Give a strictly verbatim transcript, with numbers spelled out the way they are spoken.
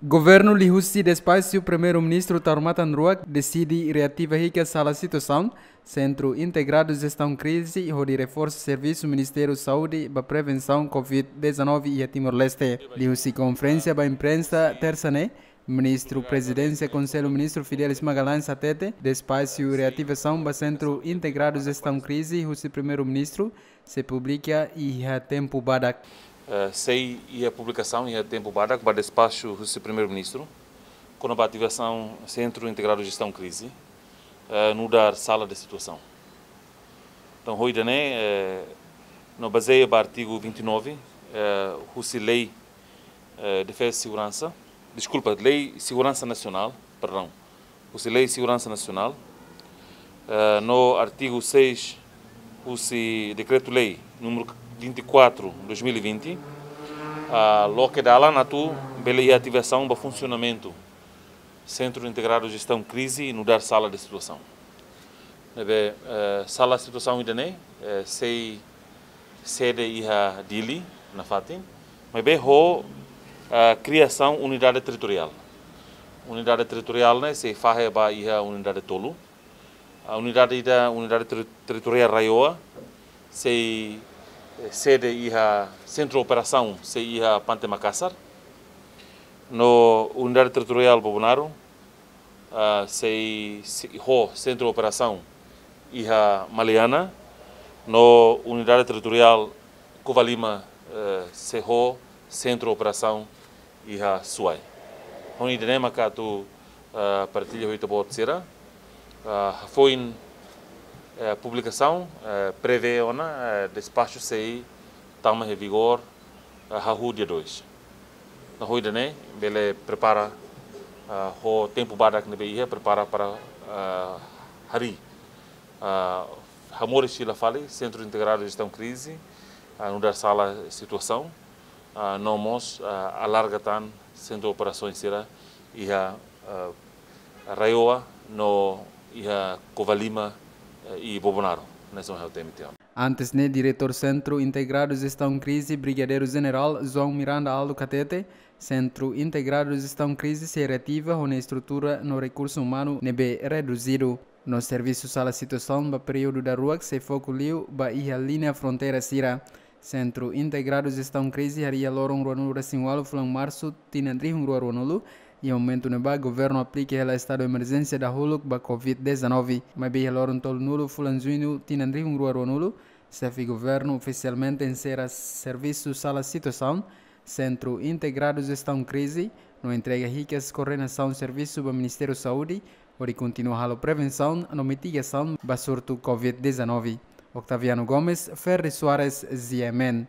Governu liuhusi Despaxu Primeiru-Ministru Taur Matan Ruak deside reativa hikas sala situasaun Sentru Integradu Jestaun Krize hodi reforsa servisu Ministériu Saúde ba prevensaun covid dezanove iha Timor-Leste. Liuhusi konferénsia ba imprensa tersa ne'e, Ministru Prezidénsia Konsellu Ministru Fidelis Magalhães hatete, despaxu reativasaun ba Sentru Integradu Jestaun Krize husi Primeiru-Ministru sei publika iha tempu badak. Eh, sei iha publikasaun iha tempu badak ba despaxu husi Primeiru-Ministru kona-ba ativasaun Sentru Integradu Jestaun Krize, eh, nu'udar sala de situasaun. Entaun, ho ida-ne'e, eh, no bazeia ba artigu vinte e nove, eh, husi Lei, eh, Defeza e Segurança, deskulpa, Lei Seguransa Nasionál, perdaun, husi Lei Seguransa Nasionál, eh, no artigu seis husi Dekretu-Lei númeru vinte e quatro, dois mil e vinte, ah, loke dalan atu bele iha ativasaun ba funsionamentu Sentru Integradu Jestaun Krize nu'udar sala de situasaun. Ne'ebé, eh, sala situasaun ida-ne'e, eh, sei sede iha Dili, nafatin, maibé ho, eh, kriasaun unidade territoriál. Unidade territoriál ne'e sei fahe ba iha unidade tolu. Ah, unidade ida, unidade terri-, territoriál RAEOA, sei, eh, sede iha sentru operasaun, sei iha Pante Makasar. No unidade territoriál Bobonaro, ah, sei, sei ho sentru operasaun iha Maliana, no unidade territoriál Covalima, eh, sei ho sentru operasaun iha Suai. Ho ida-ne'e maka atu, ah, partilla ho ita-boot sira, ah, hafoin, eh, publikasaun, eh, prevee ona, eh, despaxu sei tama iha vigór, ah, hahú dia dois. Entaun, ho ida-ne'e bele prepara, ah, ho tempu badak ne'ebé iha, prepara para, ah, harii, ah, hamoris fila fali Sentru Integradu Jestaun Krize, ah, nu'udar sala situasaun, ah, no mós, ah, alarga tan sentru operasaun sira iha, ah, RAEOA no iha Covalima, eh, i Bobonaro, ne'e são hau temitian. Antes ne'e, Diretór Sentru Integradu Jestaun Krize, Brigadeiru Jenerál João Miranda Aldo hatete, Sentru Integradu Jestaun Krize sei reativa ho nia estrutura no rekursu umanu ne'ebé reduzidu. No servisu sala situasaun ba períodu daruak sei foku liu ba iha liña fronteira sira. Sentru Integradu Jestaun Krize harii iha loron ruanulu-resin-ualu fulan Marsu tinan rihun rua ruanulu, iha momentu ne'ebá governu aplika hela estadu emerjénsia dahuluk ba covid dezanove. Maibé iha loron tolunulu fulan Juñu tinan rihun rua ruanulu, xefe governu ofisialmente enserra servisu sala situasaun Sentru Integradu Jestaun Krize, no entrega hikas koordenasaun servisu ba Ministériu Saúde, hodi kontinua halo prevensaun no mitigasaun ba surtu covid dezanove. Octaviano Gomes, Ferri Soares, G M N.